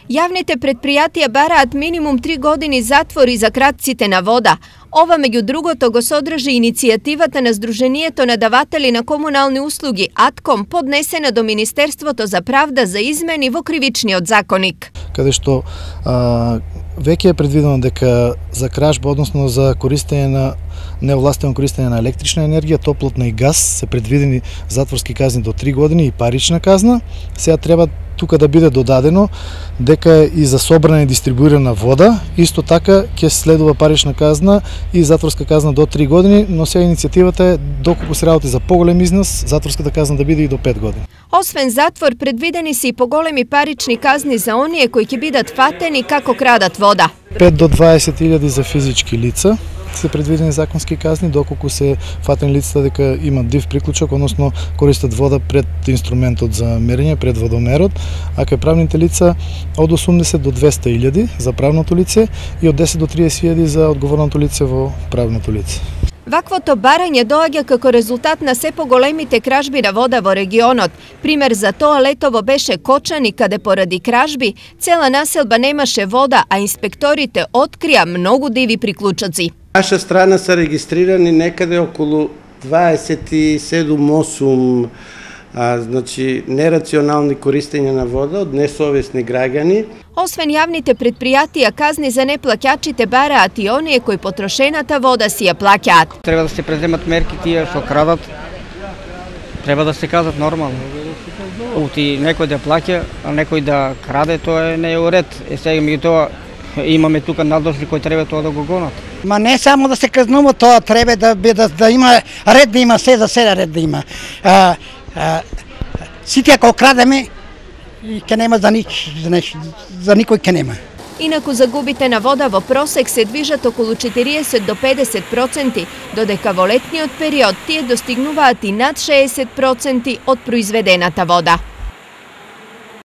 Јавните предпријатија бараат минимум 3 години затвор и за кратците на вода. Ова меѓу другото го содржи иницијативата на Сдруженијето на даватели на комунални услуги АТКОМ, поднесена до Министерството за правда за измени во кривичниот законик. Каде што веќе е предвидено дека за кражба, односно за користење на неовластено користење на електрична енергија, топлотна и газ се предвидени затворски казни до 3 години и парична казна. Сега треба тука да биде додадено дека и за собрана и дистрибуирана вода, исто така ќе следува парична казна и затворска казна до 3 години, но сега иницијативата е доколку се работи за поголем износ, затворската казна да биде и до 5 години. Освен затвор, предвидени се и поголеми парични казни за оние кои ќе бидат фатени како крадат вода. 5 до 20.000 за физички лица се предвидени законски казни, доколку се фатени лицата дека имат див приклучок, односно користат вода пред инструментот за мерење, пред водомерот, а кај правните лица од 80 до 200.000 за правното лице и од 10 до 30.000 за одговорното лице во правното лице. Ваквото барање доаѓа како резултат на се поголемите кражби на вода во регионот. Пример за тоа летово беше Кочани, каде поради кражби цела населба немаше вода, а инспекторите открија многу диви приклучоци. Наша страна се регистрирани некаде околу 27-8 значи нерационални користења на вода од несовесни граѓани. Освен јавните предпријатија, казни за неплаќачите бараат и оние кои потрошената вода си ја плаќаат. Треба да се преземат мерки тие што крадат. Треба да се казат нормално. Ути некој да плаќа, а некој да краде, тоа не е уред. Сега меѓутоа имаме тука надложни кои треба тоа да го гонат. Ма не само да се казнува, тоа треба да има ред, да има се за седа ред да има. Сите ако крадеме, ќе нема за никој ќе нема. Инаку загубите на вода во просек се движат околу 40 до 50%, додека во летниот период тие достигнуваат и над 60% од произведената вода.